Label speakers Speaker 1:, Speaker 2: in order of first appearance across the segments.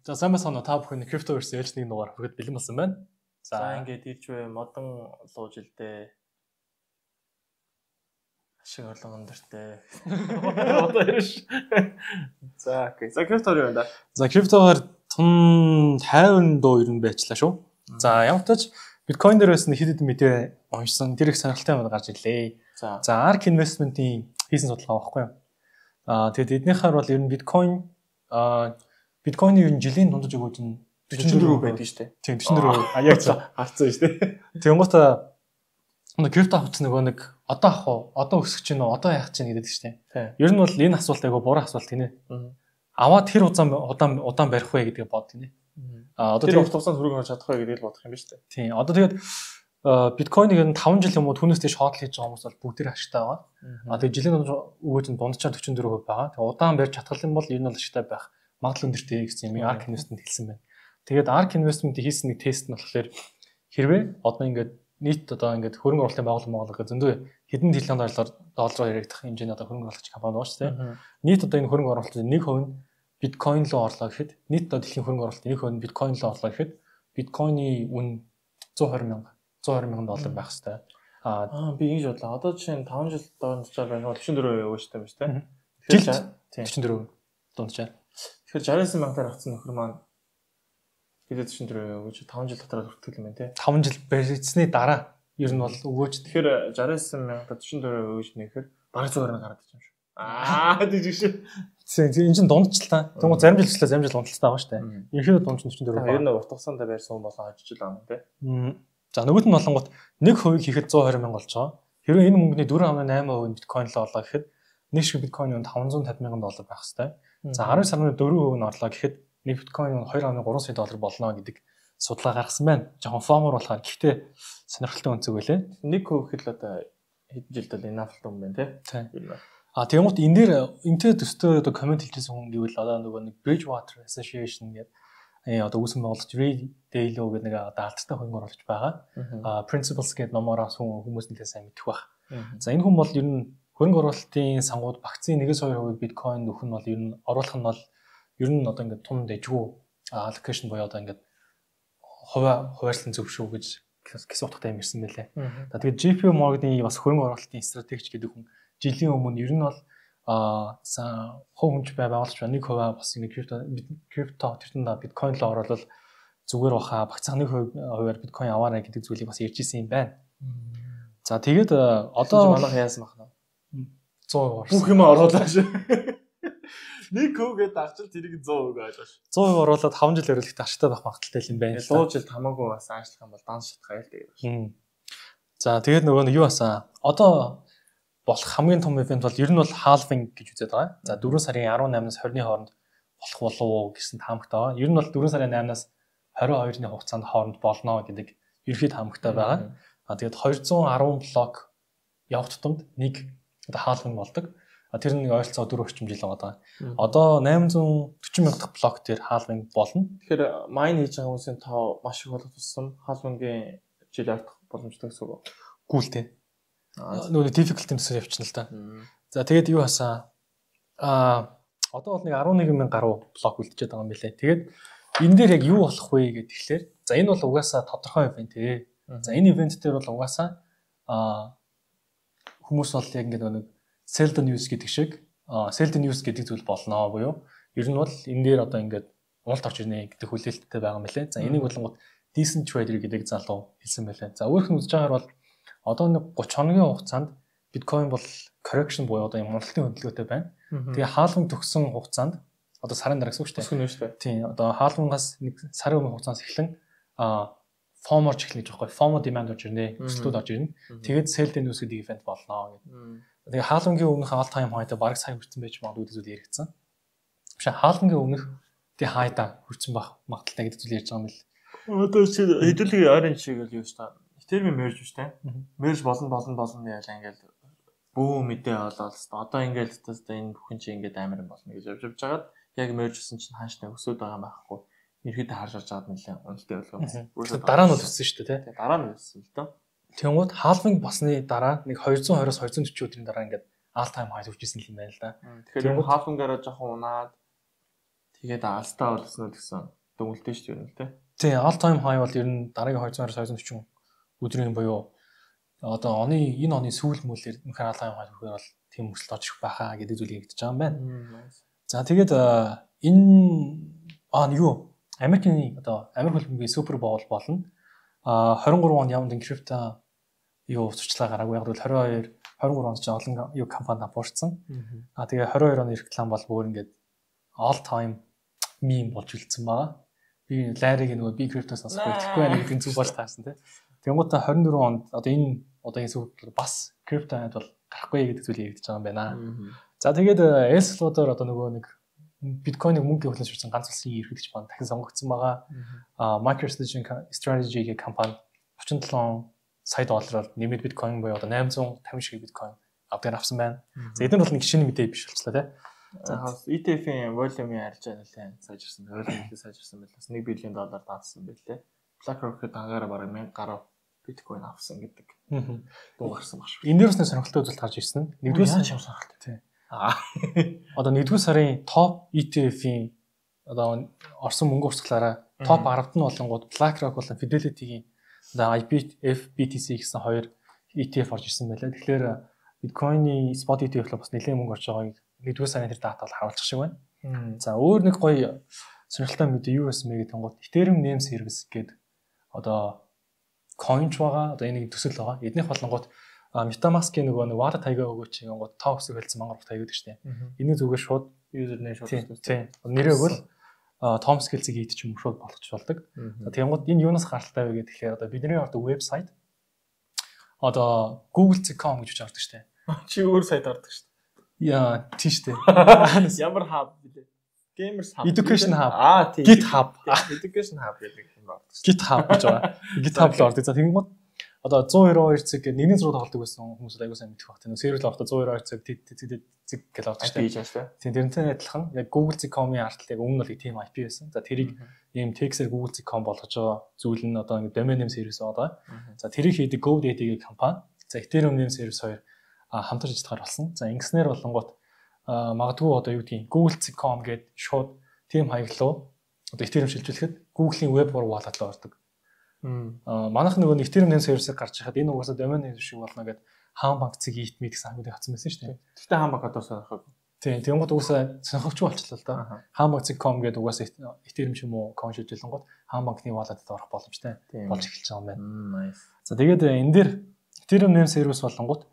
Speaker 1: За сайн байна уу та бүхэн Cryptoverse ээлж нэг дугаар хүргэхэд бэлэн болсон байна.
Speaker 2: За ингээд ирж бай модон лууж илдээ. Ашиг орлон өндөртэй. Одоо ирж. За окей. За Crypto юу вэ?
Speaker 1: За Crypto-гаар тун 50 дуу ер нь байчлаа шүү. За ямар ч тач Bitcoin дээр байсан хэд хэдэн мэдээ уншсан. Тэр их сонирхолтой юм гарч ирлээ. За ARK Investment-ийн хийсэн судалгаа байхгүй юу? Тэгэд эднийхээр бол ер нь Биткойны ер нь жилийн дундаж өгөөж нь
Speaker 2: 44% байдаг шүү дээ.
Speaker 1: Тийм 44%. Яг
Speaker 2: харцсан шүү дээ.
Speaker 1: Тэнгуутаа крипто авч нөгөө нэг одоо авах уу? Одоо өсөх чинь үү? Одоо яах чинь гэдэг шүү дээ. Ер нь бол энэ асуулт айгу буруу асуулт гинэ. Аваад тэр удаан барих вэ гэдгийг бод гинэ.
Speaker 2: Одоо тэр хугацаанд хөрөнгө оруулж чадах вэ гэдгийг бодох юм ба шүү дээ.
Speaker 1: Тийм. Одоо тэгээд биткойныг ер нь 5 жил юм уу түүнээс дэш хоол хийж байгаа хүмүүс бол бүгд ашигтай байгаа. Тэгээд жилийн дундаж өгөөж нь дунджаар 44% байгаа. Тэгээд удаан барьж чадхал юм бол ер нь бол ашигтай байх магадлал өндөртэй гэсэн юм ARK Investment хэлсэн байна. Тэгээд ARK Investment хийсэн нэг тест нь болохоор хэрвээ одоо ингээд нийт одоо ингээд хөрөнгө оруулалтын байгууллага гэх зөндөө хэдэн триллион доллараар яригдах хэмжээний одоо хөрөнгө оруулагч компани байгаа шүү дээ. Нийт одоо энэ хөрөнгө оруулалтын 1% нь биткойн руу орлоо гэхэд нийт одоо дэлхийн хөрөнгө оруулалтын 1% нь биткойн руу орлоо гэхэд биткойны үн 120 мянган доллар байх хэвээр.
Speaker 2: Би ингэж бодлоо. Одоо жишээ нь 5 жил дунджаар байна уу 44% өгөөжтэй байна шүү дээ.
Speaker 1: Тэгэхээр 44% дунджаар.
Speaker 2: Тэгэхээр 69 мянгаар авсан нөхөр маань тэгээд 44% өгөөж 5 жил дотор хүртэл юм байна те.
Speaker 1: 5 жил барьцсны дараа ер нь бол өгөөж.
Speaker 2: Тэгэхээр 69 мянгаар 44% өгөөж нэхэр бараг 120 гараад ирж юм шүү. Тийж шүү.
Speaker 1: Энэ чинь дундчлаа. Тэгмээ зарим жил өчлөө зарим жил унталтай байгаа шүү дээ. Ерөнхийдөө дунд чинь 44%.
Speaker 2: Ер нь урт хугацаанд барьсан хүн болон хожиж л байгаа юм те.
Speaker 1: За нөгөөт нь болонгот 1% хийхэд 120 мянга болж байгаа. Хэрвээ энэ мөнгөний 4.8% биткойн л орлоо гэхэд нэг шиг биткойны үн 550 мянган доллар байх хэвээр. За 12 сарын 4% нь орлоо гэхэд нэг биткойн нь 2.3 сая доллар болно гэдэг судалгаа гаргасан байна. Жохон фомор болохоор гэхдээ сонирхолтой өнцөг байлээ.
Speaker 2: 1% гэхэд л одоо хэдэн жилд л энафлт юм байна тий.
Speaker 1: Тэгмэд энэ дээр энтэй төстэй одоо комент хэлжсэн хүн гэвэл одоо нөгөө нэг Bridgewater Association гэдэг одоо үүсгэн байгуулагч Ray Dalio гэдэг нэг одоо алдартай хөрөнгө оруулагч байгаа. Principles гэдэг номоор хүмүүс нэлээд сайн мэдэх баг. За энэ хүн бол ер нь хөрөнгө оруулалтын сангууд багцын 1-2% биткойн нөх нь бол ер нь оруулах нь бол ер нь одоо ингээд тун дэжгүй allocation боёо одоо ингээд хуваарьсан зөв шүү гэж гэсэн утгатай юм ирсэн байлээ. Тэгээд JP Morgan-ийн бас хөрөнгө оруулалтын стратегч гэдэг хүн жилийн өмнө ер нь бол хувь хүнч байгуулж байна 1% бас нэг крипто тэртэн биткойн руу оруулал зүгээр баха багцаа 1%-аар биткойн аваарай гэдэг зүйлийг бас ярьж ирсэн юм байна. За тэгээд одоо
Speaker 2: манайх яасан бахна
Speaker 1: 100%
Speaker 2: бүх юм оруулаа шүү. 1% гэдэг авчил тэрийг 100% ойлгоо шүү.
Speaker 1: 100% оруулаад 5 жил өрөөлөхтэй ашигтай байх магадaltaй юм байна.
Speaker 2: 100 жил хамаагүй бас ажиллах юм бол данс шатгаа ял тэгээд шүү.
Speaker 1: За тэгээд нөгөө юу басан одоо болох хамгийн том ивент бол ер нь бол halving гэж үзээд байгаа. За 4 сарын 18-наас 20-ны хооронд болох болов уу гэсэн таамагтай байгаа. Ер нь бол 4 сарын 8-наас 22-ны хугацаанд хооронд болно гэдэг ерөнхий таамагтай байгаа. Тэгээд 210 блок явах тутамд нэг одоо halving болдог. Тэр нэг ойролцоогоо 4 орчим жил байгаа. Одоо 840 мянга дахь блок дээр halving болно.
Speaker 2: Тэгэхээр mine хийж байгаа хүмүүсийн тоо маш их болох тусам halving-ийн жил явах боломжтой гэсэн үг.
Speaker 1: Гүйлтэй. Нөгөө difficulty төсөө явчихна л да. За тэгээд юу хасаа одоо бол нэг 11 мянга гаруй блок үлдчихэд байгаа юм билээ. Тэгээд энэ дээр яг юу болох вэ гэдэг тэгэхээр за энэ бол угаасаа тодорхой ивент ээ. За энэ ивент дээр бол угаасаа хүмүүс бол яг ингээд нэг sell the news гэдэг шиг sell the news гэдэг зүйл болно буюу ер нь бол энэ дээр одоо ингээд уналт орж ирнэ гэдэг хүлээлттэй байгаа юм билээ. За энийг болонгууд decent trader гэдэг залуу хэлсэн байлаа. За өөрөөр нь үзэж байгаагаар бол одоо нэг 30 хоногийн хугацаанд биткойн бол correction буюу одоо юм уналтын хөдөлгөөтэй байна. Тэгээ halving төгсөн хугацаанд одоо сарын дараа гэсэн үг шүү дээ. Тийм одоо halving-аас нэг сарын өмнө хугацаанаас эхлэн FOMO ч эхлэх гэж байгаа. FOMO demand орж ирнэ, өсөлтүүд орж ирнэ. Тэгээд sell the news гэдэг event болно гэдэг. Тэгээ halving-ийн өмнөх all time high-та бараг сая хүрсэн байж магадгүй гэдэг зүйл яригдсан. Биш halving-ийн өмнөх тий high-та хүрсэн байх магадaltaй гэдэг зүйл ярьж байгаа юм л.
Speaker 2: Одоо хэдүүлгийн ойрын шиг л юу шүү дээ. Термин merge биш тэ. Merge болно яалаа ингээл бөө мэдээ олоод одоо ингээл энэ бүхэн чи ингээд амар юм болно гэж явж байгаад яг merge гэсэн чинь хааштай өсөд байгаа байхгүй. Ерөөдөө харж байгаа нэлээ үнэлтэй болгоо.
Speaker 1: Дараа нь өссөн шүү дээ тэ.
Speaker 2: Дараа нь өссөн л доо.
Speaker 1: Тэнгууд halving басны дараа нэг 220-оос 240 өдрийн дараа ингээд all time high хүрчихсэн юм байна л да.
Speaker 2: Тэгэхээр halving-аараа жоохон унаад Тэгээд алстаа болсон нь гэсэн дүнэлтэй шүү дээ юм л те.
Speaker 1: Тий, all time high бол ер нь дараагийн 240 өдрийн буюу одоо энэ оны сүүл мөлөөр мөнхөр all time high хүрэх бол тийм өсөлт орж ирэх байхаа гэдэг зүйлийг хэлж байгаа юм байна. За тэгээд энэ юу Америкийн одоо Америк хөлбөмбөгийн Супер Боул болно. 23 онд яванд крипто юу зурчлаа гараагүй яг бол 23 онд ч олон юу компани буурсан. Тэгээ 22 оны реклам бол бүр ингээд all time meme болж үлдсэн байгаа. Би лайрыг нөгөө би криптоос сонсохгүй тэгэхгүй байна гэдэг зүг болж таарсан тий. Тэнгуүтэ 24 онд одоо энэ одоогийн сүүл бас крипто айд бол гарахгүй гэдэг зүйлийг хэлж байгаа юм байна. За тэгээд Эл Салвадор одоо нөгөө нэг биткойныг мөнгө хөлөж ширсэн ганц улсын ерөнхийлөгч маань дахин сонгогдсон байгаа. MicroStrategy гэх компани 37 сая доллараар нэмээд биткойн буюу одоо 850 шиг биткойн авсан байна. За эдгээр бол нэг шинэ мэдээ биш болчихлоо тий.
Speaker 2: За ETF-ийн волюмын арилжаа нэлээд сайжирсан. Волюм сайжирсан байлаас $1 billion даасан байлээ. BlackRock-д хагаараа бараг 1000 гаруй биткойн авсан гэдэг. Дуу гарсан баг шүү.
Speaker 1: Эндээрс нэг сонирхолтой үзэлт гарч ирсэн.
Speaker 2: Нэгдүгээр сарын чам сонирхолтой тий.
Speaker 1: Одоо нэгдүгээр сарын топ ETF-ийн одоо орсон мөнгө урсгалаараа топ 10-т нь болонгууд BlackRock болон Fidelity-гийн одоо FBTC гэсэн хоёр ETF орж ирсэн байлаа. Тэгэхээр биткойны spot ETF л бас нэлээд мөнгө орж байгааг нэгдүгээр сарын тэр дата бол харуулчих шиг байна. За өөр нэг гоё сонирхолтой мэдээ юу байсан бэ гэдэг нь Ethereum Name Service гэдэг одоо coinч байгаа. Одоо энийг төсөл байгаа. Эднийх болонгууд MetaMask-ийн нөгөө wallet таягаа өгөөч гингууд тоо өсөг хэлсэн мангар таяг гэдэг штеп. Энийг зүгээр шууд
Speaker 2: username шууд
Speaker 1: тийм. Нэрээ өгвөл Tom Skills-ийг ийдчих юм шууд болгоч болдог. За тэгэнгუთ энэ юунаас гаралтай вэ гэхээр одоо бидний одоо вебсайт одоо google.com гэж ордог штеп.
Speaker 2: Чи өөр сайт ордог штеп.
Speaker 1: Яа, тийштэй.
Speaker 2: Ямар hub билээ? Gamers Hub.
Speaker 1: Education Hub.
Speaker 2: Тийм.
Speaker 1: GitHub.
Speaker 2: Education Hub гэдэг юм байна.
Speaker 1: GitHub гэж байгаа. GitHub л ордог. За тэгэнгუთ одоо 192 цаг гэдэг нэгний зураг тоглодог байсан хүмүүс аягүй сайн мэдэх баг. Тэр сервер авахта 192 цаг зэг гэж авдаг шүү дээ. Тийм тэрнтэй адилхан яг google.com-ийн арт яг өмнө нь бол тийм IP байсан. За тэрийг ийм text-ээр google.com болгож байгаа зүйл нь одоо ингэ domain name service байгаа. За тэрийг хийдэг GoDaddy гэх компани. За Ethereum name service хоёр хамтарч ажиллахаар болсон. За ингэснээр болонгууд магадгүй одоо юу гэдгийг google.com гэдэг шууд team хаяглуу одоо Ethereum шилжүүлэхэд Google-ийн web wallet руу ордог. Манайх нөгөө Ethereum name service-ийг гарч хахад энэ угаасаа domain name шиг болно гэдэг хаан банк цэг eat-meet гэсэн хамтыг хатсан байсан шүү дээ.
Speaker 2: Гэхдээ хаан банк одоо сонирхог.
Speaker 1: Тийм, тэнгууд угаасаа сонирхогч болчихлоо л да. Хаан банк.com гэдэг угаасаа Ethereum юм уу coin шилжүүлэнгууд хаан банкны wallet-д орох боломжтой болж эхэлж байгаа юм байна. За тэгээд энэ дээр Ethereum name service болонгууд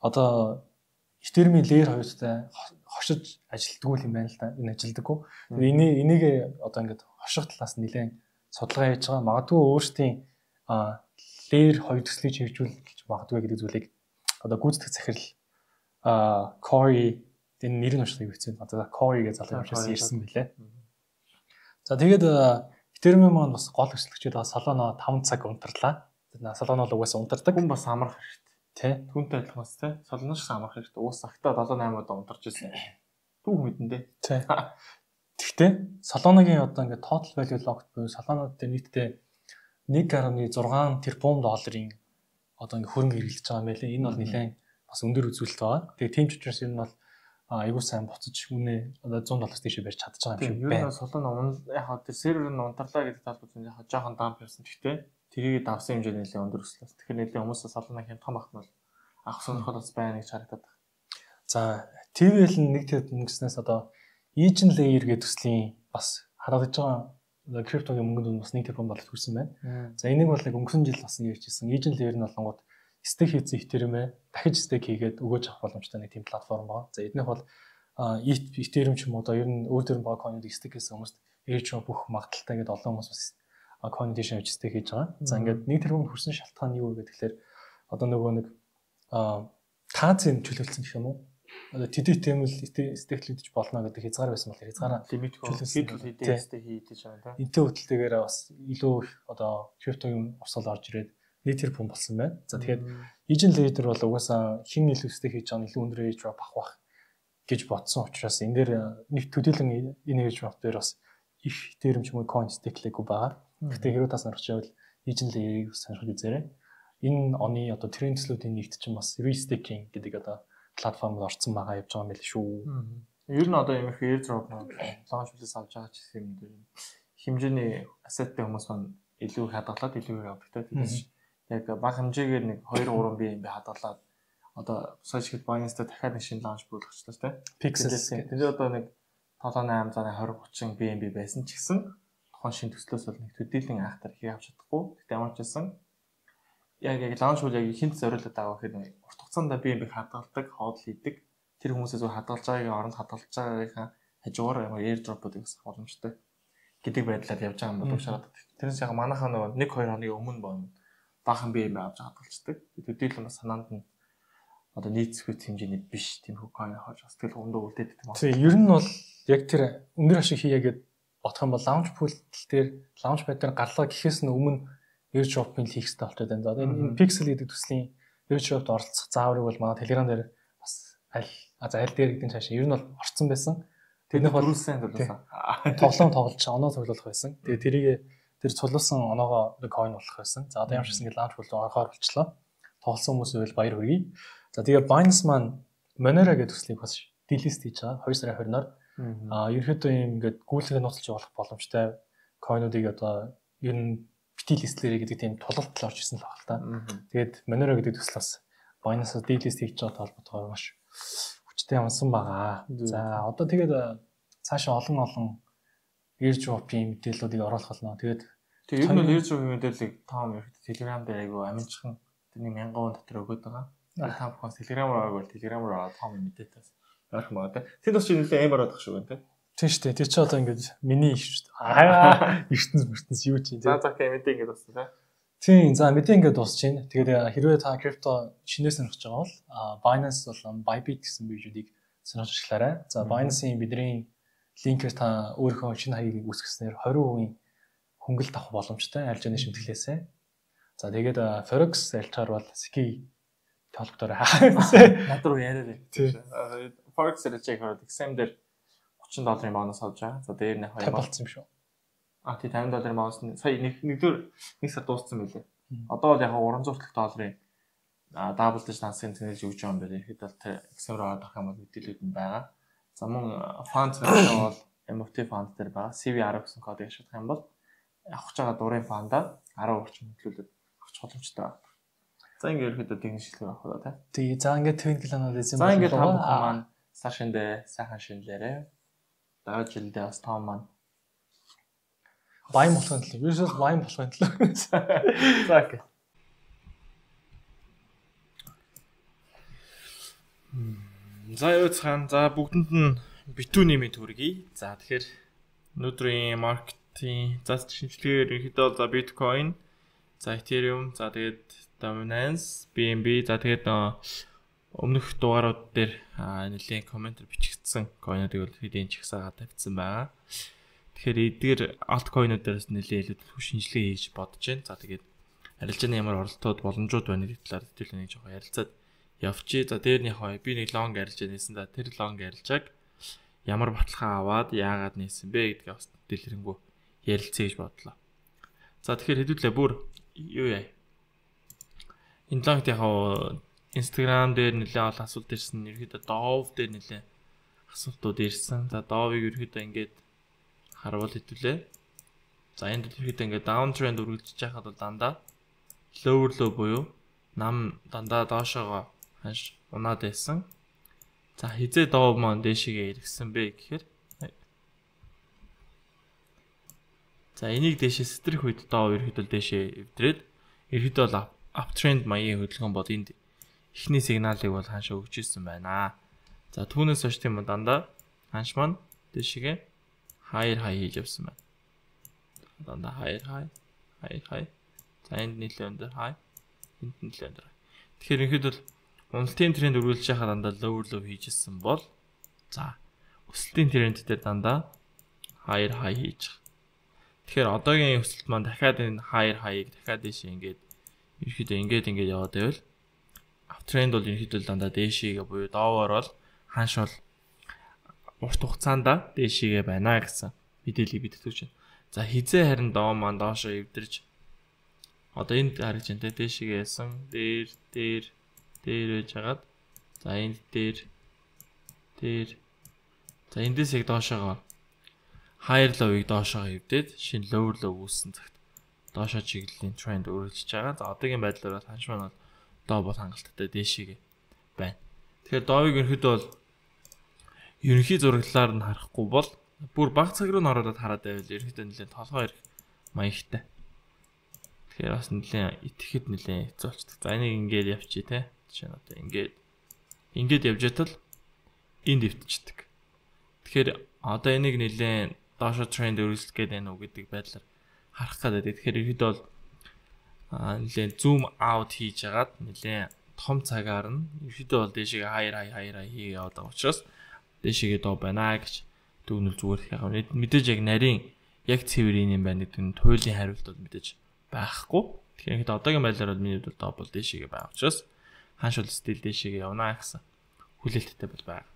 Speaker 1: одоо Ethereum-ийн layer 2-тай хошиж ажилтгүй юм байна л да. Энэ ажилдаггүй. Энийг одоо ингээд хоших талаас нь нэлээд судалгаа хийж байгаа. Магадгүй өөрсдийн layer 2 төслийг хэрэгжүүлэх гэж магадгүй гэдэг зүйлийг одоо гүйцэтгэх захирал Corey энэ нэр нь уншдаг хэвчээ. Одоо Corey гэж залуу юмшаас ирсэн билээ. За тэгээд Ethereum маань бас гол өсөлтчид бас Solana 5 цаг унтарлаа. Solana бол угаасаа унтардаг.
Speaker 2: Хүн бас амрах хэрэгтэй.
Speaker 1: Тэ.
Speaker 2: Түүнтэй адилхан бас тэ. Solana шиг амрах хэрэгтэй. Уус цагтаа 7-8 удаа унтарч ирсэн. Түүх мэдэндээ.
Speaker 1: Тэ. Гэхдээ Solana-гийн одоо ингээд total value locked буюу Solana-д нийтдээ 1.6 тэрбум долларын одоо ингээд хөрөнгө хэрэглэж байгаа юм байлээ. Энэ бол нэлээд бас өндөр үзүүлэлт байгаа. Тэгээ тийм ч учраас энэ бол айгуу сайн буцаж үнэ одоо $100 тийшээ барьж чадчих байгаа юм шиг байна.
Speaker 2: Ер нь Solana яг тэр сервер нь унтарлаа гэдэг талбарт яг жоохон дамп явсан. Гэхдээ тэрийг давсан хэмжээ нэлээд өндөр өслөөс. Тэгэхээр нэлээд хүмүүсээ Solana хямдхан багт нь бол авах сонирхол бас байна гэж харагдаад байна. За TVL нэг тэд мөнгснээс одоо Agent Layer гэдэг төслийн бас харагдаж байгаа криптогийн мөнгөнд бас $1 тэрбум хүрсэн байна. За энийг бол нэг өнгөрсөн жил бас ярьжсэн. Agent Layer нь болонгууд стейк хийсэн Ethereum-ээ дахиж стейк хийгээд өгөөж авах боломжтой нэг тийм платформ байна. За эднийх бол Ethereum ч юм уу одоо ер нь өөр төрлийн баг coin-ыг стейк хийсэн хүмүүст ээж бүх магадaltaй гэдэг олон хүмүүс бас coin дэшээ авч стейк хийж байгаа. За ингээд $1 тэрбум хүрсэн шалтгаан нь юу вэ гэхээр одоо нөгөө нэг таазын чөлөөлсөн гэх юм уу? Одоо тэдэд тэмэл стейклэгдэж болно гэдэг хязгаар байсан бол хязгаараа лимит хийдэл стейк хийдэж байгаа тийм. Энтэй хөдөлтөөр бас илүү их одоо криптогийн урсгал орж ирээд $1 тэрбум болсон байна. За тэгэхээр Agent Layer бол угаасаа хин илүү стейк хийж байгаа нь илүү өндөр airdrop авах гэж бодсон учраас энэ дээр нэг төдийлөн энэ airdrop дээр бас их Ethereum ч юм уу coin стейклэггүй байгаа. Гэхдээ хэрвээ та сонирхож байвал Agent Layer-ийг сонирхож үзээрэй. Энэ оны одоо тренд төслүүдийн нэгт чинь бас restaking гэдэг одоо платформд орсон байгаа явж байгаа юм байл шүү. Ер нь одоо юм их airdrop launch plus авч байгаа ч гэсэн юм дээр хэмжээний asset-тэй хүмүүс маань илүү хадгалаад илүү авдаг те. Тэгээс яг бага хэмжээгээр нэг 2-3 BNB хадгалаад одоо сошиал Binance-тай дахиад нэг шинэ launch болгочлаа те.
Speaker 1: Pixels.
Speaker 2: Тэгээд одоо нэг 7-8 20-30 BNB байсан ч гэсэн тухайн шинэ төслөөс бол нэг төдийлөн айхтар хийх авч чадахгүй. Тэгтээ ямар ч байсан яг launch бол яг хинт зориулаад байгаа гэхээр урт хугацаанд BNB хадгалдаг, хоол хийдэг. Тэр хүмүүсээс хадгалж байгаагийн оронд хадгалж байгаагийнхаа хажуугаар ямар airdrop-уудыг гэсэн боломжтой гэдэг байдлаар явж байгаа юм болов шараад. Тэрнээс яг манайхаа нөгөө 1-2 хоногийн өмнө баахан BNB авч хадгалцдаг. Төдийлөн бас санаанд нь одоо нийцэхүйц хэмжээний биш тийм coin хож бас тэгэл өндөө үлдээдэг юм байна.
Speaker 1: Тийм ер нь бол яг тэр өндөр ашиг хийгээд бодох юм бол launch pool дээр launch pad дээр гарлаа гэхээс нь өмнө airdrop-ыг хийх хэрэгтэй болчиход байна. Одоо энэ pixel гэдэг төслийн airdrop-д оролцох зааврыг бол манай Telegram дээр бас аль дээр гэдэг нь цаашаа ер нь бол орцсон байсан. Тэрнийх бол тоглоом тоглож оноо цуглуулах байсан. Тэгээ тэрийг тэр цуглуулсан оноогоо coin болох байсан. За одоо ямар ч гэсэн launch pool орохоор болчлоо. Тоглосон хүмүүс байвал баяр хүргэе. За тэгээ Binance маань Monero гэдэг төслийг бас delist хийж байгаа 2 сарын 20-ноор. Ерөнхийдөө юм ингээд гүйлгээ нууцлж явуулах боломжтой coin-уудыг одоо ер нь бити листлэрээ гэдэг тийм тулалт орж ирсэн л байна л та. Тэгээд Monero гэдэг төсөл бас Binance-аас delist хийж байгаа толботгоор маш хүчтэй амсан байгаа. За одоо тэгээд цаашаа олон airdrop-ийн мэдээллүүдийг оруулах болно. Тэгээд
Speaker 2: ер нь airdrop-ийн мэдээллийг Tom Telegram дээр айгу аминчхан тэрний 1000 вон дотор өгöd байгаа. Та бүхэн Telegram-аар бол Telegram-аар Tom мэдээлэлээс ярих юм байна. Тэд бас нэлээд амар бодох шүү байна те.
Speaker 1: Тийм шүү дээ. Тэр чи одоо ингээд миний их шүү дээ. Ертөнц юу ч юм те.
Speaker 2: За мэдээ ингээд басна те.
Speaker 1: Тийм за мэдээ ингээд дуусч байна. Тэгээд хэрвээ та крипто шинээр сонирхож байгаа бол Binance болон Bybit гэсэн биржүүдийг сонирхож ажиллаарай. За Binance-ийн бидний линкээр та өөрийнхөө шинэ хаягийг үүсгэснээр 20% хөнгөлөлт авах боломжтой аль жины шимтгэлээсээ. За тэгээд Forex альчаар бол ски толгодоор
Speaker 2: над руу яриад байна. Forex рэж яг exam дээр $30 бонус авч байгаа. За дээр нь
Speaker 1: 50 болсон юм шүү.
Speaker 2: Тий $50 бонус нь сая нэг сар дууссан байлээ. Одоо бол яг $300 double дэж нансгийн тэнэлж өгч байгаа юм байна. Ихэд бол exam руу авах юм бол мэдээлэлүүд нь байгаа. За мөн fund бол MFT fund дээр байгаа. CV10 гэсэн кодыг ашиглах юм бол авах гэж байгаа дурын фандаа 10 орчим хөдөлгөөд авах боломжтой байна. За ингээд ерөөдөө тэгний шилдэг авах уу та.
Speaker 1: Тий, за ингээд Twinkle-ыг эзэн
Speaker 2: За ингээд та бүхэн маань сар шиндээ сайхан шинлээрээ. Давж жилдээ бас том маань
Speaker 1: Баян болохын төлөө. Ерөөсөө баян болохын төлөө.
Speaker 2: За окей. За юу цаан за бүгдэнд нь битүүний мэд хүргэе. За тэгэхээр өнөөдрийн маркетинг за шинжилгээр ерөнхийдөө за биткойн, за Ethereum, за тэгээд Dominance, BNB, за тэгээд өмнөх дугаарууд дээр нэлийн комментэр бичигдсэн койнуудыг бол хэдийн чагсаагаад тавьсан байгаа. Тэгэхээр эдгээр альткойнууд дээрээс нэлийн илүү шинжилгээ хийж бодож байна. За тэгээд арилжааны ямар оролтууд боломжууд байна гэдэг талаар хэдүүлээ нэг жоохон ярилцаад явчих. За дээр нь яг би нэг лонг арилжаа нээсэн. За тэр лонг арилжааг ямар баталгаа аваад яагаад нээсэн бэ гэдгээ бас дэлгэрэнгүй ярилцъя гэж бодлоо. За тэгэхээр хэдүүлээ бүр юу яа. Энэ лонгт яг Instagram дээр нэлээд олон асуулт ирсэн. Ерөөдөө Dove дээр нэлээд асуултууд ирсэн. За Dove-ыг ерөөдөө ингээд харуул хэдүүлээ. За энд ерөөдөө ингээд downtrend үргэлжлэж байхад бол дандаа lower low буюу нам дандаа доошоогоо ханш унаад байсан. За хизээ Dove маань дээшгээ иргсэн бэ гэхээр за энийг дээшээ сэтрэх үед Dove ерөөдөө дээшээ эвдрээд ерөөдөө бол uptrend маягийн хөдөлгөөн бод энд эхний сигналыг бол хаашаа өгч ирсэн байна. За түүнээс хойш тийм дандаа ханш маань дээшгээ higher high хийж явсан байна. Дандаа higher high. За энд нийлээ өндөр high, энд нийлээ өндөр. Тэгэхээр ихэд бол уналтын тренд үргэлжлэж байхад дандаа lower low хийжсэн бол за өсөлтийн тренд дээр дандаа higher high хийж. Тэгэхээр одоогийн өсөлт маань дахиад энэ higher high-ыг дахиад дээшээ ингээд яваад байвал uptrend бол ерөнхийдөө дандаа дээшээгээ буюу доовор бол ханш бол урт хугацаанд дээшээгээ байна гэсэн мэдээллийг бид өгч байна. За хизээ харин доо маань доошоо эвдэрж одоо энд харж байна те дээшээгээ ясан дээр байж хагаад за энд дээр За эндээс яг доошоогоо higher low-ыг доошоо хөвдөд шинэ lower low үүссэн цагт доошоо чиглэлийн тренд өөрчлөж байгаа. За одоогийн байдлаар бол ханш маань бол доо бол хангалттай дээшээ байна. Тэгэхээр доовыг ерөнхийдөө бол ерөнхий зураглалаар нь харахгүй бол бүр бага цаг руу н ороод хараад байвал ерөнхийдөө нэлээд толгой ирэх маягтай. Тэгэхээр бас нэлээд итгэхэд нэлээд хэцүү болчихдог. За энийг ингээд явчих тий. Жишээ нь одоо ингээд явж байтал энд дэвтчихдэг. Тэгэхээр одоо энийг нэлээд доошо тренд өөрчлөх гээд байна уу гэдэг байдлаар харах гэдэг. Тэгэхээр ерөнхийдөө бол нэлээд зум аут хийж агаад нэлээд том цагаар нь ерөнхийдөө бол дээшээ higher хийгээ яваад байгаа учраас дээшээ доо байна гэж дүгнэл зүгээр яг мэдээж яг нарийн яг цэвэр юм байна гэдэг нь туйлын хариулт бол мэдээж байхгүй. Тэгэхээр одоогийн байдлаар бол миний хувьд доо бол дээшээ байгаа учраас ханш бол стил дээшээ явна гэсэн хүлээлттэй бол байна.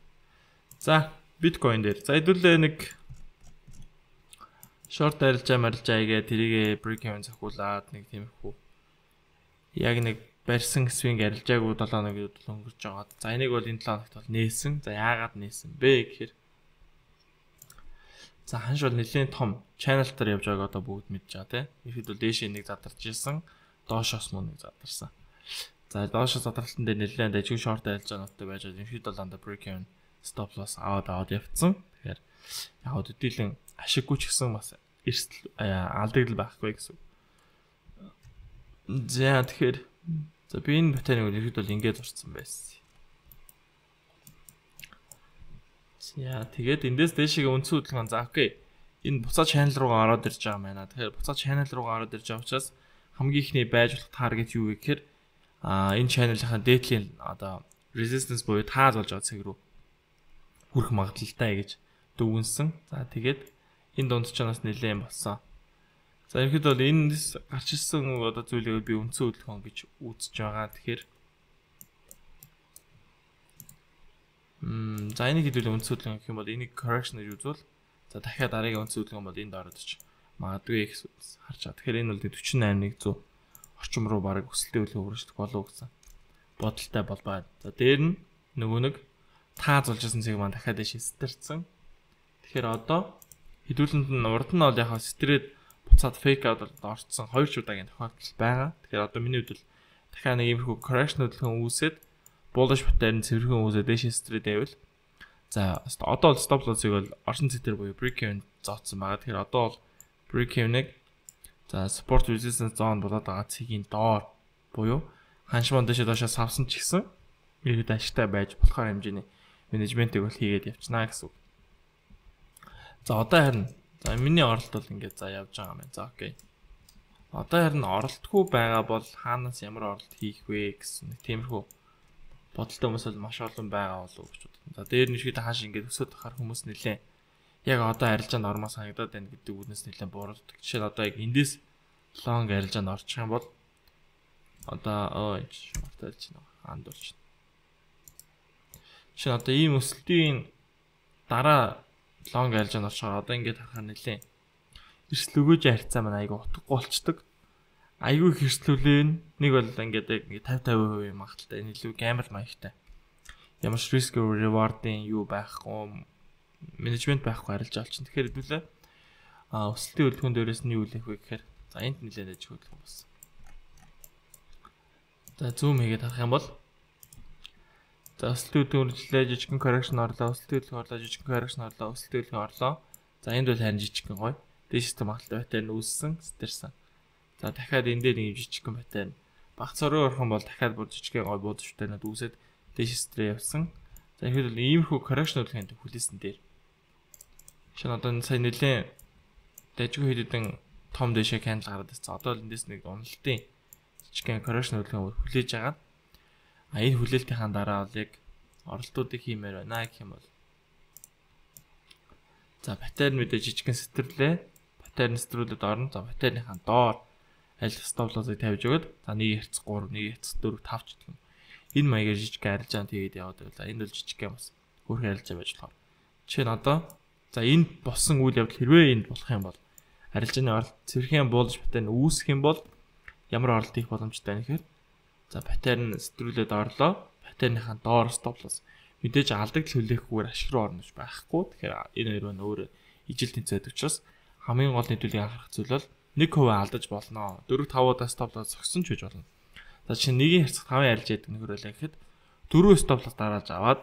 Speaker 2: За биткойн дээр за хэдүүлээ нэг short арилжаа игээ тэрийг break-even зохиулаад нэг тиймэрхүү яг нэг барьсан swing арилжаагүй 7 хоногуд өнгөрч байгаа. За энийг бол энэ 7 хоногт бол нээсэн. За яагаад нээсэн бэ гэхээр за ханш бол нэлээд том channel дээр явж байгааг одоо бүгд мэдж байгаа тийм. Ихэд бол дээшээ нэг задарч ирсэн, доошоос мөн нэг задарсан. За доошоо задралтан дээр нэлээд ажиг short арилжаануудтай байж байгаа. Ихэд бол анда break-even stop loss аваад явцсан. Тэгэхээр яг хөдөлгөөн ашиггүй ч гэсэн бас эрсдэл алдагдал байхгүй гэсэн. За тэгэхээр за би энэ батарейг ихэд бол ингэж зурцсан байсан. За тэгээд эндээс дээшээ үндсэн хөдөлгөөн за окей. Энэ буцаа channel руугаа ороод ирж байгаа юм байна. Тэгэхээр буцаа channel руугаа ороод ирж байгаа учраас хамгийн ихний байж болох target юу вэ гэхээр энэ channel-ийн дээдлийн одоо resistance буюу тааз болж байгаа цэг рүү хүрэх магадлалтай гэж дүгнсэн. За тэгээд энэ дунд ч бас нэлээд болсон. За ихэд бол эндээс гарч ирсэн одоо зүйлийг би үндсэн хөдөлгөөн гэж үзэж байгаа. Тэгэхээр за энийг хэдүүл үндсэн хөдөлгөөн гэх юм бол энийг correction гэж үзвэл за дахиад дараагийн үндсэн хөдөлгөөн бол энд ороод ич магадгүй гэж харж байгаа. Тэгэхээр энэ бол 48100 орчим руу бараг өсөлттэй хөдөлгөөн хүрэх болов гэсэн бодолтой бол байна. За дээр нь нөгөө нэг тааз болж ирсэн цэг маань дахиад шистэрсэн. Тэгэхээр одоо хэдүүлэнд нь урд нь бол яг стрээд буцаад fake out орцсон 2 удаагийн тохиолдол байгаа. Тэгэхээр одоо миний хувьд дахиад нэг иймэрхүү correction хөдөлгөөн үүсээд bullish pattern цэвэрхэн үүсээд дэше стрээд байвал за одоо бол stop loss-ыг бол оршин цэгтэр буюу break-even зооцсон байгаа. Тэгэхээр одоо бол break-even-ыг за support resistance zone болоод байгаа цэгийн доор буюу ханшман дэше доошоо савсан ч гэсэн иргэд ашигтай байж болохоор хэмжээний менежментийг бол хийгээд явчихна гэсэн үг. За одоо харин за миний оролт бол ингээд за явж байгаа юм байна. За окей. Одоо харин оролтгүй байгаа бол хаанаас ямар оролт хийх вэ гэсэн нэг тиймэрхүү бодолтой хүмүүс бол маш олон байгаа болов уу гэж бодсон. За дээр нь шийдэ хааш ингээд өсөд тахаар хүмүүс нэлээ яг одоо арилжаанд ормоо санагдаад байна гэдэг үгнээс нэлээ бууралдаг. Жишээ нь одоо яг эндээс long арилжаанд орчих юм бол одоо марталж байна. Андуурч. Жишээ нь одоо ийм өсөлтийн дараа long арилжаанд орчоор одоо ингээд харахаар нэлээ эрсэл өгөөж харьцаа маань айгүй утгагүй болчдөг. Айгүй хэрслүүлэн нэг бол ингээд 50-50% магадaltaй энэ илүү гамбл маягтай. Ямар ч risk reward-ийн юу байхгүй, менежмент байхгүй арилжаа олчихно. Тэгэхээр хэдүүлээ өсөлтийн хөдөлгөөн дээрээс нь юу үлээх вэ гэхээр за энд нэлээд ажиг хөдөлгөөн болсон. За зүүм хийгээд харах юм бол за өсөлтийн хөдөлгөөн жижигхэн correction орлоо, өсөлтийн хөдөлгөөн орлоо, жижигхэн correction орлоо, өсөлтийн хөдөлгөөн орлоо. За энд бол харин жижигхэн гоё. Дээштэй магадaltaй байтаар нь үүссэн, стэрсэн. За дахиад энэ дээр нэг жижигхэн байтаар баг цороо орох юм бол дахиад бүр жижигхэн гоё буудаштай надад үүсээд дээш стрэ явсан. За ихэд бол иймэрхүү correction хөдөлгөөнд хүлээсэн дээр. Шинэ одоо энэ сайн нэлээ дайжгүй хэдэн том дэшээ candle гараад ирсэн. Одоо л эндээс нэг уналтын жижигхэн correction хөдөлгөөн хүлээж агаад энэ хүлээлтийн дараа бол яг оролтуудыг хиймээр байна гэх юм бол. За паттерн мэдээ жижигхэн сэтэрлээ. Паттерн сэтрүүлээд орно. За паттерныхаа доор аль stop loss-ыг тавьж өгöd. За 1/3, 1/4, 5 ч гэх юм. Энэ маягаар жижигхэн арилжаанд хийгээд яваад байла. Энэ бол жижигхэн бас хөөрхөн арилжаа байж болохоор. Жишээ нь одоо за энд болсон үйл явдал хэрвээ энд болох юм бол арилжааны оролт цэвэрхэн bullish паттерн үүсэх юм бол ямар оролт хийх боломжтой вэ гэхээр за паттерн сэтрүүлээд орлоо. Паттерныхаа доор stop loss мэдээж алдагдал хүлээхгүйгээр ашиг руу орно гэж байхгүй. Тэгэхээр энэ хоёр маань өөр ижил тэнцээд учраас хамгийн гол нийтүүлгийг анхаарах зүйл бол 1% алдаж болно. 4-5 стоплос зогсон ч гэж болно. За чинь нэгийн харьцах 5 арилж яадаг нөхөрлөө гэхэд 4 стоплос дарааж аваад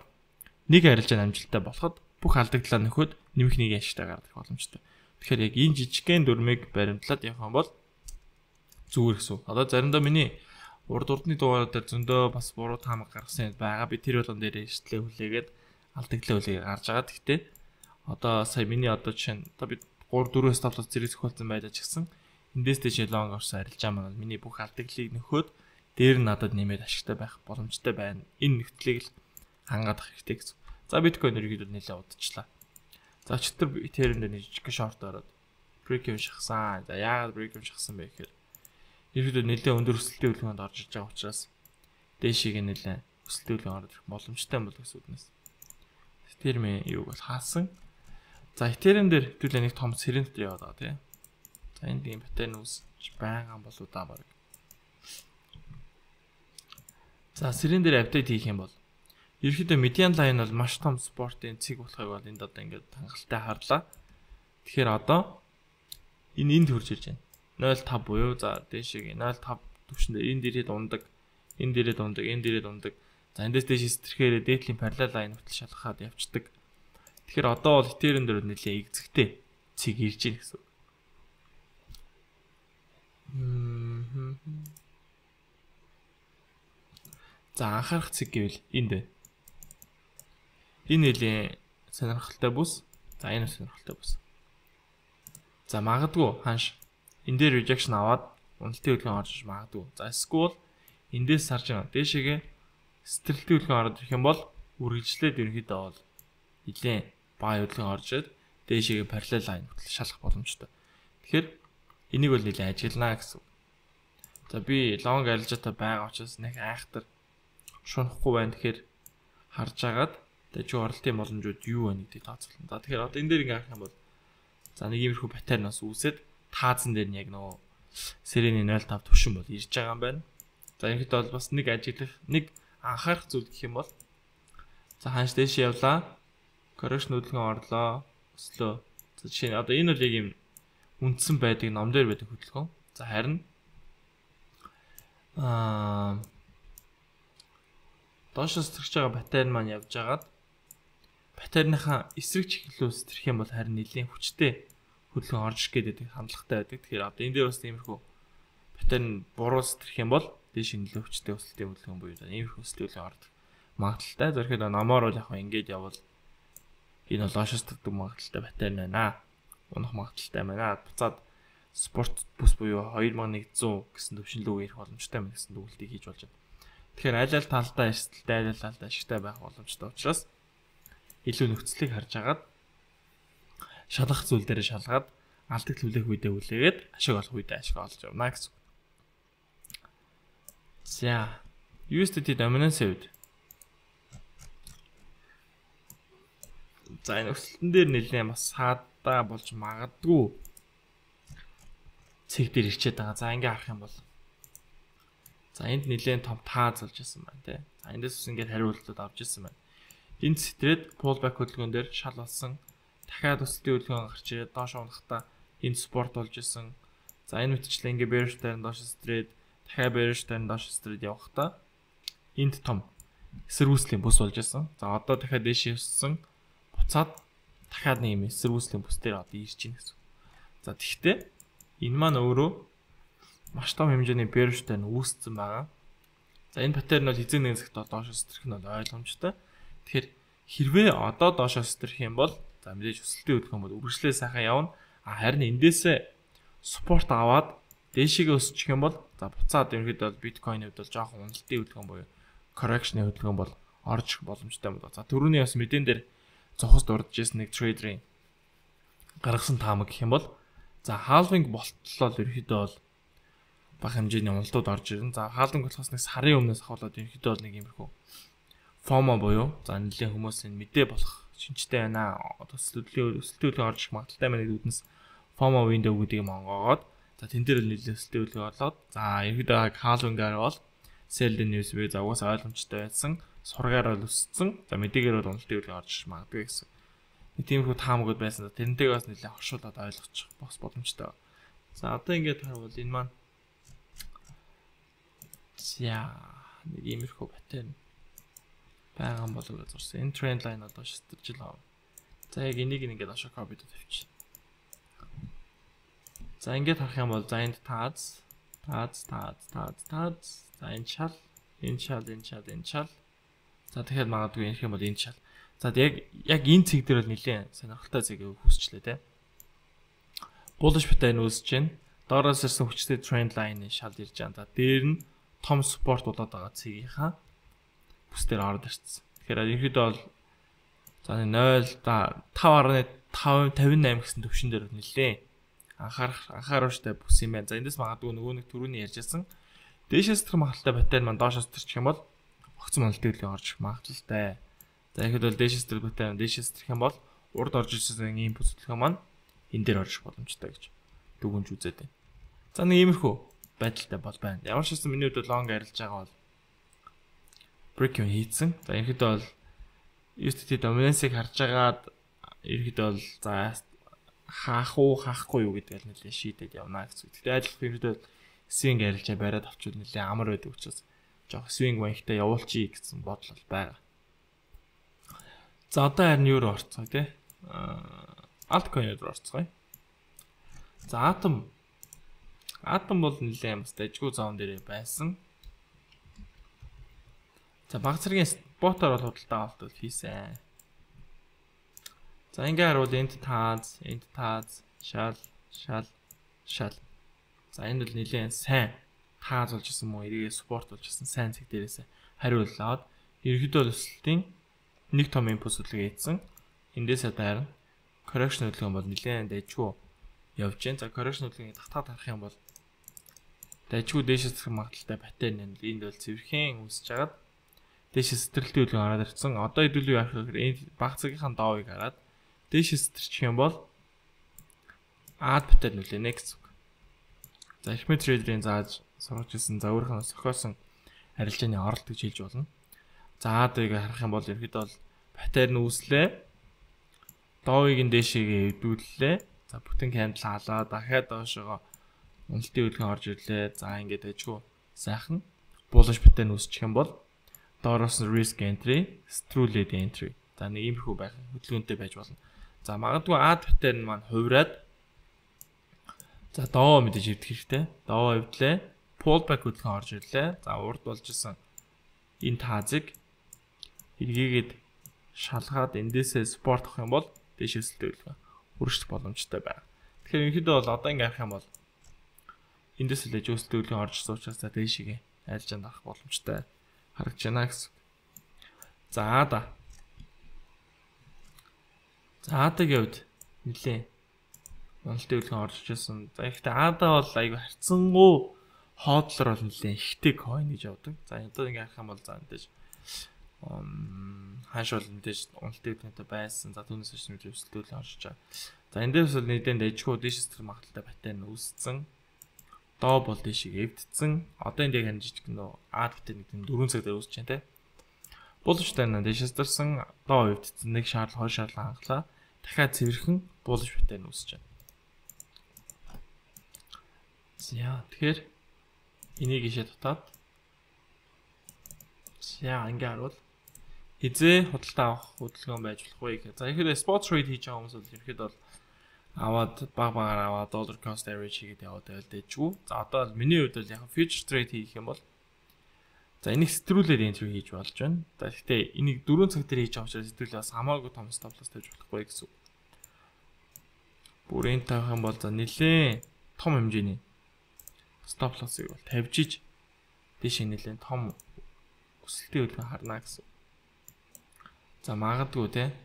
Speaker 2: нэг арилжаа амжилттай болоход бүх алдагдлаа нөхөд нэмэх нэг ашигтай гаргах боломжтой. Тэгэхээр яг энэ жижигхэн дүрмийг баримтлаад явах юм бол зүгээр гэсэн. Одоо заримдаа миний урд урдны дугаараар дээр зөндөө бас буруу таамаг гаргасан байгаа. Би тэр болгон дээр шийдлээ хүлээгээд алдагдлаа хүлээгээд гарч байгаа. Гэхдээ одоо сая миний одоо жишээ нь одоо би 3-4 стоплос зэрэг зохиолсон байлаа ч гэсэн эндээс дэше лонг орсон арилжаа маань миний бүх алдагдлыг нөхөд дээр нь надад нэмээд ашигтай байх боломжтой байна. Энэ нөхцөлийг л хангаадах хэрэгтэй гэсэн. За биткойн ерөнхийдөө нэлээд удажлаа. За өчтөр Ethereum-д нэг жижиг шорт ороод break-ийг шахсан. За яагаад break-ийг шахсан бэ гэхээр ерөнхийдөө нэлээд өндөр өсөлтийн үлгөөнд орж иж байгаа учраас дээшийг нэлээд өсөлтийн үлгөөн орох боломжтой бол гэсэн үгнээс. Ethereum юуг бол хаасан. За Ethereum дээр хэвлээ нэг том сэрэнт яваад байгаа тийм. За энд ийм паттерн үүсэж байгаа болоо да баг. За сэрэн дээр апдейт хийх юм бол ерөнхийдөө median line бол маш том спортын цэг болохыг бол энд одоо ингээд хангалттай харлаа. Тэгэхээр одоо энд хурж ирж байна. 0.5 буюу за дээшээ 0.5 түвшиндээ энэ дээрээ дундаг, энэ дээрээ дундаг, энэ дээрээ дундаг. За эндээс дээш стрэхээр дээдлийн parallel line хөтөл шалгахад явцдаг. Тэгэхээр одоо бол Ethereum дээр нэлээ игзэгтэй цэг ирж байна гэсэн. За анхаарах цэг гэвэл энд байна. Энэ нэлээ сонирхолтой бүс. За энэ сонирхолтой бүс. За магадгүй ханш энэ дээр rejection аваад уналтын хөдөлгөөн орж магадгүй. За эсвэл эндээс сарж байгаа. Дээшээгээ стрэлтийн хөдөлгөөн ороод ирэх юм бол үргэлжлээд ерөнхийдөө бол нэлээ баа хөдөлгөөн орж ирээд дээшээгээ parallel line хөтөл шалгах боломжтой. Тэгэхээр энийг бол нэлээ ажиглана гэсэн. За би long арилжаатай байгаа учраас нэг айхтар шунахгүй байна. Тэгэхээр харж агаад дажиг оролтын боломжууд юу вэ гэдгийг тооцоолно. За тэгэхээр одоо энэ дээр ингээ харах юм бол за нэг иймэрхүү паттерн бас үүсээд таазан дээр нь яг нөгөө сэрэний 0.5 түвшин бол ирж байгаа юм байна. За ерөнхийдөө бол бас нэг ажиглах, нэг анхаарах зүйл гэх юм бол за ханш дэш явлаа. Correction хөдөлгөөн орлоо. Өслөө. За жишээ нь одоо энэ бол яг юм үндсэн байдаг ном дээр байдаг хөдөлгөөн. За харин доошоос төрж байгаа паттерн маань явж агаад паттерныхаа эсрэг чиглэлөөс тэрх юм бол харин нэлийн хүчтэй хөдөлгөөн орж ирэх гэдэг хандлагатай байдаг. Тэгэхээр одоо энэ дээр бас тиймэрхүү паттерн буруус тэрх юм бол дээш нөлөө хүчтэй өсөлтийн хөдөлгөөн буюу иймэрхүү өсөлтийн ордог магадaltaй. Зорхид номоор бол яг ингэж явбал энэ бол доошоос төрдөг магадaltaй паттерн байна. Унах магадaltaй байна. Буцаад спорт бүс буюу 2100 гэсэн төвшинлөө ирэх боломжтой мэн гэсэн дүгнэлтийг хийж болж байна. Тэгэхээр аль аль талдаа эрсдэлтэй, аль аль талдаа ашигтай байх боломжтой учраас илүү нөхцөлийг харж агаад шалгах зүйл дээр шалгаад алдагт хүлээх үедээ хүлээгээд ашиг олох үедээ ашиг олж явна гэсэн. За, USDT dominance үед. За энэ өсөлтөн дээр нэлээд бас саадаа болж магадгүй цэг дээр ирчээд байгаа. За ингээ харах юм бол за энд нэлээд том тааз болж исэн байна тий. За эндээс ус ингээд хариултууд авч исэн байна. Энд стрээд pullback хөдөлгөөн дээр шал болсон. Дахиад өсөлтийн хөдөлгөөн гарч ирээд доош унахтаа энд спорт болж исэн. За энэ мэтчлээ ингээ bearish дээр доош стрээд дахиад bearish дээр доош стрээд явахдаа энд том эсэргүүцлийн бүс болж исэн. За одоо дахиад дээш явсан. Буцаад дахиад нэг юм эсэргүүцлийн бүс дээр одоо ирж байна гэсэн. За тэгвэл энэ маань өөрөө маш том хэмжээний bearish-тай үүссэн байгаа. За энэ паттерн бол эзэн нэг цагт доошоос төрөх нь бол ойлгомжтой. Тэгэхээр хэрвээ одоо доошоос төрөх юм бол за мэдээж өсөлтийн хөдөлгөөн бол үргэлжлээ сайхан явна. Харин эндээсээ support аваад дээшээгээ өсчих юм бол за буцаад ерөнхийдөө бол биткойн хувьд бол жоохон уналтын хөдөлгөөн буюу correction-ийн хөдөлгөөн бол орж ирэх боломжтой юм байна. За түрүүний бас мэдэн дээр зохос дурдж ирсэн нэг трейдерийн гаргасан таамаг гэх юм бол за halving болтлоо ерөнхийдөө бол бага хэмжээний уналтууд орж ирнэ. За halving болохоос нэг сарын өмнөөс ахуулаад ерөнхийдөө бол нэг иймэрхүү FOMO буюу за нэлийн хүмүүсийн мэдээ болох шинжтэй байна. Одоо өсөлтөөлөө орж ирэх магадaltaй байна гэдэг үднэс FOMO window гэдэг юм онгоогоод за тэн дээр нэлийн өсөлтөөлөө орлоод за ерөнхийдөө halving-аар бол sell the news буюу за угаасаа ойлгомжтой байсан сургаар бол өссөн. За мэдээгээр бол уналтын үлгэн орж магадгүй гэсэн. Нэг тиймэрхүү таамагуд байсан. Тэрнтэйг бас нэлээд оршуулад ойлгочих бос боломжтой. За одоо ингээд харвал энэ маань за нэг иймэрхүү паттерн байгаа болов уу зурсан. Энэ тренд лайн одоо шилтэж л аа. За яг энийг ингээд ашиг копид тавьчих. За ингээд харах юм бол за энд тааз. За энэ шал. За тэгэхээр магадгүй ярих юм бол энэ шал. За яг энэ цэг дээр бол нэлээд сонирхолтой зэг үүсчлээ те. Bullish pattern үүсэж байна. Доороос ирсэн хүчтэй trend line-ийн шал ирж байгаа. За дээр нь том support болоод байгаа цэгийнхаа бүс дээр ороод ирсэн. Тэгэхээр ерөөдөө бол за 0.558 гэсэн төвшин дээр нэлээ анхааруулжтай бүс юм байна. За эндээс магадгүй нөгөө нэг түрүүний ярьжсэн дээшээс тэр магадaltaй паттерн маань доошоос төрчих юм бол огцон монолтын үлгэн орж магадaltaй. За ихэд бол дээшээс тэр паттерн дээшээс төрөх юм бол урд орж ирсэн ийм бүсэлхэн маань энэ дээр орж боломжтой гэж дүгнж үзээд байна. За нэг иймэрхүү байдалтай бол байна. Ямар ч хэсэн миний хувьд long арилж байгаа бол break хийцэн. За ихэд бол USDT dominance-ыг харж агаад ихэд бол за хаахгүй юу гэдэг л нэлээ шийдээд явна гэсэн. Тэгтээ адилхан ихэд swing арилжаа бариад авчвал нэлээ амар байдаг учраас жоох swing банктай явуулчих гэсэн бодол байгаа. За одоо харин юу орцгоо те. Altcoin руу орцгоо. За Atom бол нэлээ бас дайггүй зоон дээр байсан. За баг зэргийн спотоор бол худалдаа авалт хийсэн. За ингээ харуул энд тааз, шал. За энэ бол нэлээд сайн тааз болж исэн мó эргээ спорт болж исэн сайн цэг дээрээс хариулаад ерөөдөө өсөлтийн нэг том импульс үлгээ ийдсэн. Эндээсээ дайрна. Correction үлгэн бол нэлээд дайггүй явж байна. За correction үлгийг татаад харах юм бол дайггүй дээшээс зэрэг магадaltaй паттерн энэ бол цэвэрхэн үүсэж хагаад дээшээс сэтэрэлтийн үлгэн ороод ирсэн. Одоо хэдүүл юу яах вэ гэхээр энэ баг цагийнхаа доовыг хараад дээшээс сэтэрчих юм бол add паттерн үлээнэ гэсэн. За Ахмед трейдерийн зааж сургаж ирсэн за өөрийнхөө сохиосон арилжааны оролт гэж хэлж болно. За адыг харах юм бол ерөөдөө бол паттерн үүслээ. Доовыг нь дээшээгээ хэвдүүллээ. За бүтэн кандл хаалаа дахиад доошоо уналтын үлгэн орж ирлээ. За ингээд ажгүй сайхан bullish паттерн үүсчих юм бол доороос нь risk entry, struled entry. За нэг иймэрхүү байх хөдөлгөөнтэй байж болно. За магадгүй add паттерн маань хувраад за доо мэдээж ивдэх хэрэгтэй. Доо ивдлээ. Pullback хөдөлгөөн орж ирлээ. За урд болж исэн энэ таазыг эргээгээд шалгаад эндээсээ спорт авах юм бол дээшээс төлөвлөгөө хүрэх боломжтой байна. Тэгэхээр ерөнхийдөө бол одоо ингэ харах юм бол эндээс л жөөс төлөвлөгөө орж ирсэн учраас за дээшээгээ айлжаанд авах боломжтой харагдаж байна гэсэн. За аадаг явд нэлээ монолтын үлгэн орж ирсэн. За ихтэй аадаа бол айгүй харцсангуу хоодлоор бол нэлээ ихтэй coin гэж явдаг. За одоо ингэ харах юм бол за мэдээж хааш бол мэдээж уналтын үлгэнтэй байсан. За түүнээс ч нэг өсөлтөл орж байгаа. За энэ дээрс бол нэгэн дайжгүй дээшээс тэр магадaltaй паттерн үүссэн. Доо бол дээшийг эвдсэн. Одоо энэ яг ханжиж гэнэ аад паттерн нэг 4 цаг дээр үүсэж байна те. Bullish pattern дээшээс дэрсэн доо эвдсэн. Нэг шаардлага 2 шаардлага хангалаа. Дахиад цэвэрхэн bullish pattern үүсэж байна. За тэгэхээр энийг ишээ татаад за ингээ харуул хизээ худалдаа авах хөдөлгөөн байж болох вэ гэх. За ихэд spot trade хийж байгаа хүмүүс бол ихэд бол аваад багаар аваад dollar cost average хийгээд яваад байлдээжгүй. За одоо миний хувьд бол яг future trade хийх юм бол за энийг стрүүлээд entry хийж болж байна. За гэхдээ энийг 4 цаг дээр хийж байгаа учраас стрүүл бас хамаагүй том stop loss тавьж болохгүй гэсэн. Бүрийн тавих юм бол за нэлээ том хэмжээний stop loss-ыг бол тавьж иж дээш нэлээд том өсөлтийн үлгэн харна гэсэн. За магадгүй те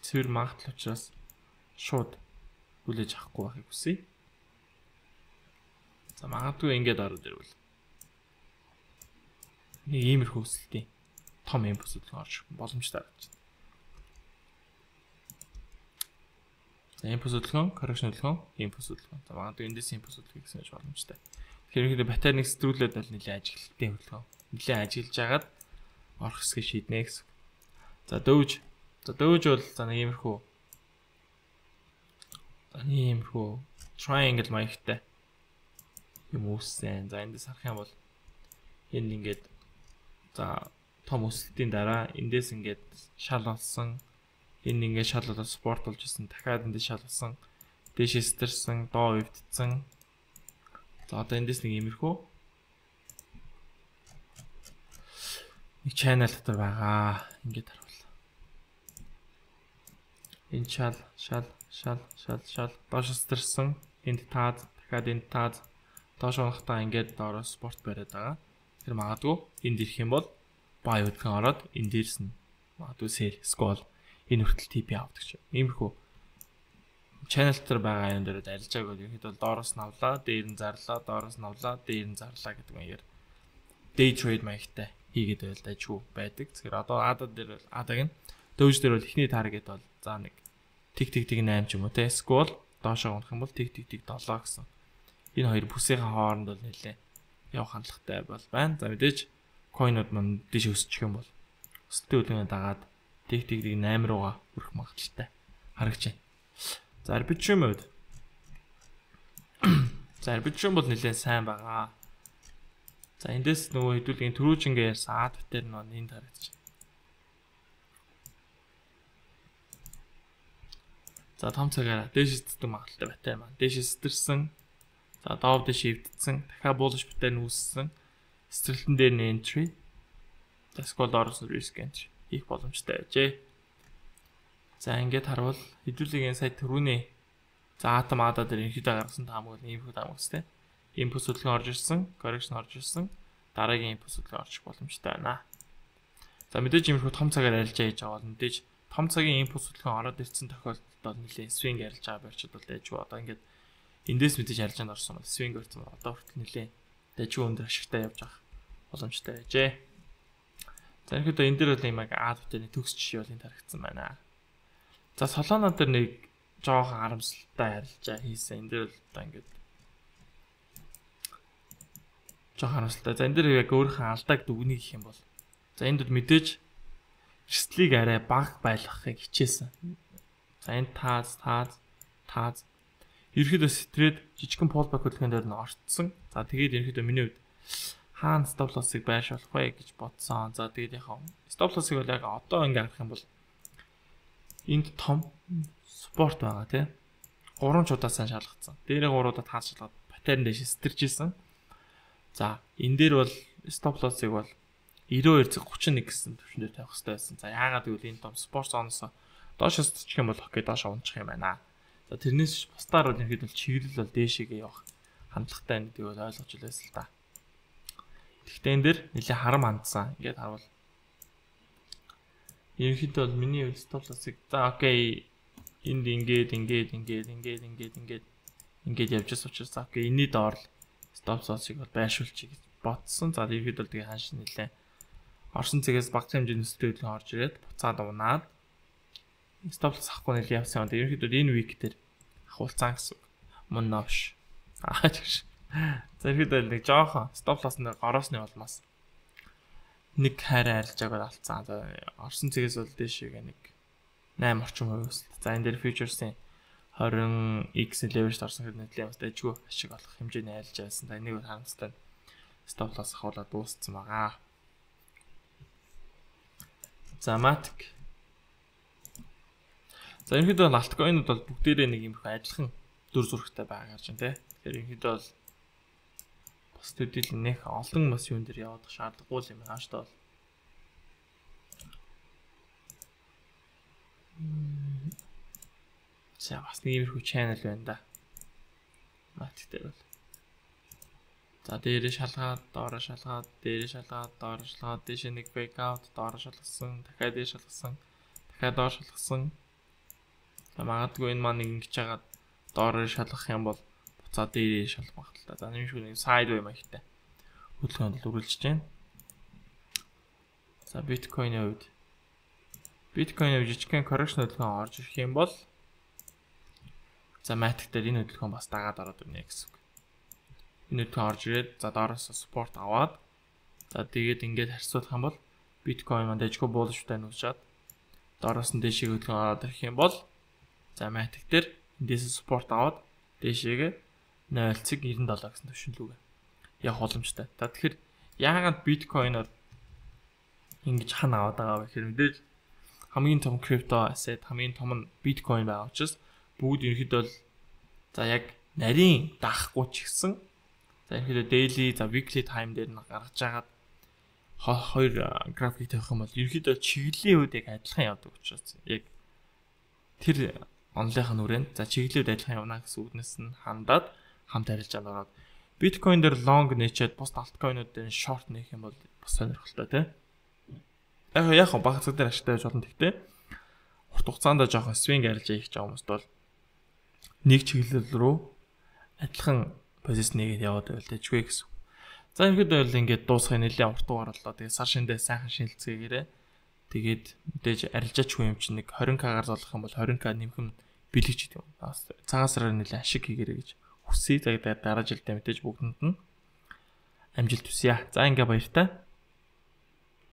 Speaker 2: цэвэр магадл учраас шууд хүлээж авахгүй байхыг хүсье. За магадгүй ингэж ороод ирвэл нэг иймэрхүү өсөлтийн том импульс үлгэн орж боломжтой гэж. За импульс үлгэн, correction үлгэн, импульс үлгэн. За магадгүй эндээс импульс үлгэн гэсэн ч боломжтой. Тэгэхээр ихэд паттерныг стрүүлээд бол нэлээд ажиглалтай хөдөлгөөн. Нэлээд ажиглаж агаад орох хэсгийг шийднэ гэсэн. За дөвж бол за нэг иймэрхүү triangle маягтай юм үүссэн. За эндээс харах юм бол энэ ингээд за том өсөлтийн дараа эндээс ингээд шал болсон. Энэ ингээд шал болоод спорт болж исэн. Дахиад эндээс шал болсон. Дээш стэрсэн, доо өвдсөн. За одоо эндээс нэг иймэрхүү нэг channel дотор байгаа. Ингээд харуул. Энэ шал доош стэрсэн. Энд таад, дахиад энд таад. Доош унахтаа ингээд доороо спорт бариад байгаа. Тэр магадгүй энд ирэх юм бол бай өдгөн ороод энэ дээрс нь магадгүй сэр скол энэ хүртэл TP авдаг ч. Иймэрхүү channel дээр байгаа юм дээр арилжааг бол ихэд бол доороос нь авлаа, дээр нь зарлаа, доороос нь авлаа, дээр нь зарлаа гэдэг маягаар day trade маягтай хийгээд байл дайггүй байдаг. Тэгэхээр одоо ADA дээр бол ADA-г нь дөвж дээр бол ихний таргет бол за нэг тэг 8 ч юм уу те скол доошоо унах юм бол тэг 7 гэсэн. Энэ хоёр бүсийн хооронд бол нэлээ явах хандлагатай бол байна. За мэдээж койнууд манд дэш өсчих юм бол өсөлтийн үлгэрээ дагаад тэг 8 руугаа хүрэх магадлалтай харагч байна. За арбитрийн мод. За арбитрийн бол нэлээд сайн байгаа. За эндээс нөгөө хэдүүлгийн төрүүжингээ ярьсан ад битэр нь энд харагдаж байна. За том цагаараа дээш эцдэг магадлалтай байтаа маань. Дээш эцдэрсэн. За доов дэш эвдсэн. Дахиад буулж битэр нь үүссэн. Стрэлтэн дээр нь entry. За скол доороос нь risk entry хийх боломжтой байжээ. За ингээд харвал хэдүүлгийн сая түрүүний за атом ада дээр ерөнхийдөө гаргасан таамаг бол иймэрхүү таамаг үстэй. Input хөдөлгөөн орж ирсэн, correction орж ирсэн. Дараагийн input хөдөлгөөн орчих боломжтой байна. За мэдээж иймэрхүү том цагаар арилжаа хийж байгаа бол мэдээж том цагийн input хөдөлгөөн ороод ирсэн тохиолдолд бол нэлээд swing арилж байгаа барьчид бол дайжгүй. Одоо ингээд эндээс мэдээж арилжаанд орсон бол swing орсон бол одоо хүртэл нэлээд дайжгүй өндөр ашигтай явж байгаа боломжтой байжээ. За ерөнхийдөө энэ дээр бол юм ад битэрний төгс жишээ бол энд харагдсан байна. За Solana дээр нэг жоохон харамсалтай арилжаа хийсэн. Энд дээр л одоо ингээд жоохон харамсалтай. За энэ дээр яг өөрийнхөө алдааг дүгнэх гэх юм бол за энд мэдээж эрсдлийг арай бага байлгахыг хичээсэн. За энэ тааз ерөөхдөө стрээд жижигхэн pullback хөдөлгөөн дээр нь ортсон. За тэгээд ерөөхдөө миний хувьд хаана stop loss-ыг байрш болох вэ гэж бодсон. За тэгээд яхаа stop loss-ыг бол яг одоо ингээд харах юм бол энд том спорт байгаа тий. 3 чудаас шалгацсан. Дээрээ 3-удаа таас шалгаад паттерн дэш стэрж исэн. За энэ дээр бол stop loss-ыг бол 92.31 гэсэн төвшөнд тавих хэрэгтэй байсан. За яагаад гэвэл энэ том спорт зоноос доошоос тчих юм бол хоккей доошоо унчих юм байна. За тэрнээс бусдаар бол ихэд бол чиглэл бол дээшээгээ явах хандлагатай нэг бол ойлгож илээсэн л та. Гэхдээ энэ дээр нэлээ харам хандсан. Ингээд харвал ерөнхийдөө бол миний хувьд stop loss-ыг за окей энд ингээд явж байгаа учраас окей энэний доор stop loss-ыг бол байршуулчих гэж бодсон. За ерөнхийдөө тэгээ хааш нэлээ орсон цэгээс багц хэмжээний өсөлтөд хөдөлгөөн орж ирээд буцаад унаад stop loss авахгүй нэлээ явсан. Ерөнхийдөө энэ week дээр ахуулцсан гэсэн. Мөн новш. Тэгш. За ерөнхийдөө нэг жоохон stop loss-ны гороосны улмаас нэг хайр арилжааг алдсан. За орсон цэгээс бол дээшээ нэг 8 орчим хувь өсөлт. За энэ дээр futures-ийн 20x leverage орсон хэрэг нэлээд бас дайггүй ашиг олох хэмжээний арилжаа байсан. За энийг бол харамсалтай stop loss ахуулаад дууссан байгаа. За matic. За ерөнхийдөө бол альткоинууд бол бүгдээрээ нэг юмрхүү адилхан дүр зурагтай байгаа гэж байна тий. Тэгэхээр ерөнхийдөө бол бас төдийл нэх олон бас юун дээр явах шаардлагагүй юм байна шүү дээ. За бас нэг иймэрхүү channel байна да. Matic дээр бол. За дээрээ шалгаад, доороо шалгаад, дээрээ шалгаад, доороо шалгаад, дээшээ нэг break out, доороо шалгасан, дахиад дээш шалгасан, дахиад доор шалгасан. За магадгүй энэ маань ингэж хагаад доороо шалгах юм бол буцаад дээрээ шалгах магадaltaй. За нэг шиг нэг sideway маягтай хөдөлгөөнд л үргэлжлэж байна. За биткойны хувьд жижигхэн correction хөдөлгөөн орж ирэх юм бол за matic дээр энэ хөдөлгөөн бас дагаад ороод ирнэ гэсэн үг. Энэ хөдөлгөөн орж ирээд за доороос support аваад за тэгээд ингээд харьцуулах юм бол биткойн маань дэжгүй буулштай нүүсчаад доороос нь дэшиг хөдөлгөөн аваад ирэх юм бол за матик дээр эндээс спорт аваад дэшигээ 0.97 гэсэн төвшинлүүгээ явах боломжтой. За тэгэхээр яагаад биткойноор ингэж хана аваад байгаа вэ гэхээр мэдээж хамгийн том крипто asset хамгийн том нь биткойн байгаа учраас бүгд ерөнхийдөө бол за яг нарийн даахгүй ч гэсэн за ерөнхийдөө daily за weekly time дээр нь гаргаж агаад хоёр график тавих юм бол ерөнхийдөө чиглэлийн үед яг адилхан явдаг учраас яг тэр онлынхаа нүрэнд за чиглэлийн үед адилхан явна гэсэн үгнээс нь хандаад хамт арилжаанд ороод биткойн дээр long нээчээд бус алткойнууд дээр short нээх юм бол бас сонирхолтой тий. Яг баг цаг дээр ашигтай байж болно гэхдээ урт хугацаанд жоохон swing арилжаа хийх байгаа хүмүүст бол нэг чиглэл рүү адилхан позишн нэгээд яваад байвал дэжгүй гэсэн. За ерөөдөө бол ингээд дуусгах нэлээд урт дугаарлаа. Тэгээ сар шиндээ сайхан шинэлцгээгээрээ тэгээд мэдээж арилжаачгүй юм чинь нэг 20k-аар золох юм бол 20k нэмэх нь бэлэг ч гэдэг юм. Цагаан сараар нэлээд ашиг хийгээрэй гэж хүсье. Тэгээд дараа жилдээ мэдээж бүгдэнд нь амжилт хүсье. За ингээ баяртай.